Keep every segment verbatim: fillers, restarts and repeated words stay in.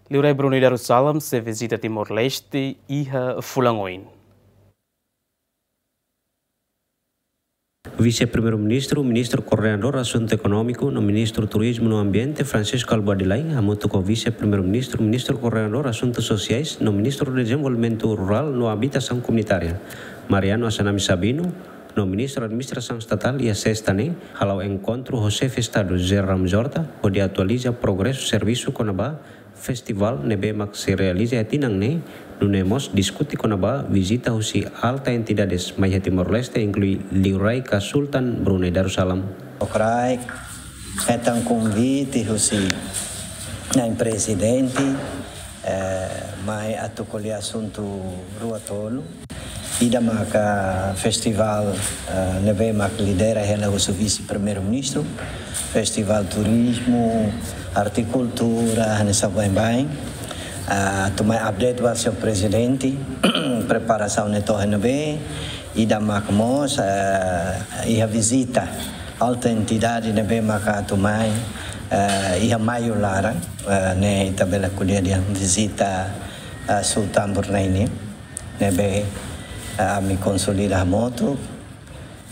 Liurai Brunei Darussalam sei vizita Timor-Leste iha fulan oin. Vise-Primeiru-Ministru, Ministru Koordenadór Asuntu Ekonómiku no Ministru Turizmu no Ambiente, Francisco Albuadilai, hamutuk ho Vise-Primeiru-Ministru, Ministru Koordenadór Asuntu Sosiais no Ministru Dezenvolvimentu Rurál no Abitasaun Komunitária, Mariano Assanami Sabino, no Ministru Administrasaun Estatál iha sesta ne'e, hala'o enkontru ho Xefe Estadu José Ramos Horta, hodi atualiza progresu servisu kona-ba festivál ne'ebé mak sei realiza iha tinan ne'e, nune'e mós diskute kona-ba vizita husi alta entidades mai iha Timor-Leste, inklui Liurai ka Sultan Brunei Darussalam. Okraik, hetan konvite husi Na'i Prezidente, eh, mai atu ko'alia asuntu rua tolu. Ida maka festivál, eh, ne'ebé mak lidera hela husi Vise-Primeiru-Ministru, festivál turizmu, arte, kultura, hanesan baibain. Ah, atu mai update ba Señór Prezidente, preparasaun ne'e to'o iha ne'ebé, ida maka mós, eh, iha vizita alta entidade ne'ebé maka atu mai, eh, iha maiu laran, eh, ne'e ita bele ko'alia dehan vizita, eh, Sultan Brunei nian, ne'ebé, eh, ami konsolida hamutuk,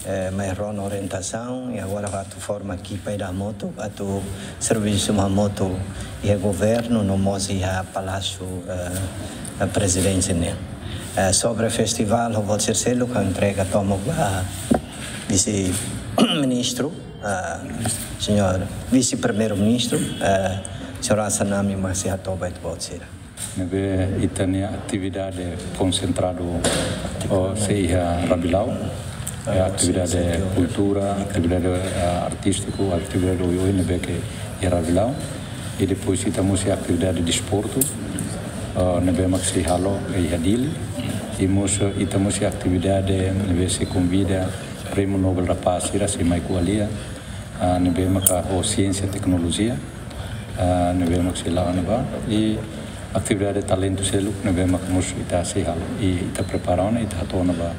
eh, mai rona orientasaun, i agora atu forma ekipa ida hamutuk, atu servisu hamutuk iha governu, no mós iha Palásiu, eh, Prezidénsia nian. Eh, sobre festivál, ha'u-boot sira seluk ha'u entrega tomak ba Vise-Ministru, eh, Señór Vise-Primeiru-Ministru, eh, Señór Assanami mak sei hato'o ba ita-boot sira. Ne'ebé ita-nia atividade konsentradu, oh, sei iha Rabilau. Eh, atividade kultura, atividade, eh, artístiku, atividade oioin ne'ebé ke iha Rabilau. I depois ita mós iha atividade desportu, eh, ne'ebé mak sei halo iha Dili. I mós, eh, ita mós iha atividade ne'ebé sei konvida Prémiu Nobel da Paz sira sei mai ko'alia, ah, ne'ebé maka ho siénsia teknolojia, ah, ne'ebé mak sei la'o ona ba, i atividade talentu seluk ne'ebé mak mós ita sei halo, i ita prepara ona, ita hato'o ona ba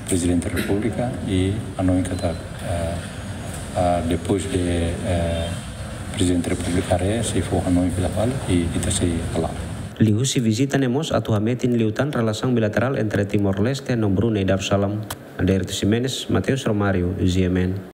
Prezidente Repúblika, i hanoin katak, ah, ah, depois de, eh, Prezidente Repúblika haree, sei fó hanoin fila fali, i ita sei hala'o. Liuhusi vizita ne'e mós atu hametin liután relasaun bilaterál entre Timor-Leste no Brunei Darussalam. Aderito Ximenes, Mateus Romário, G M N.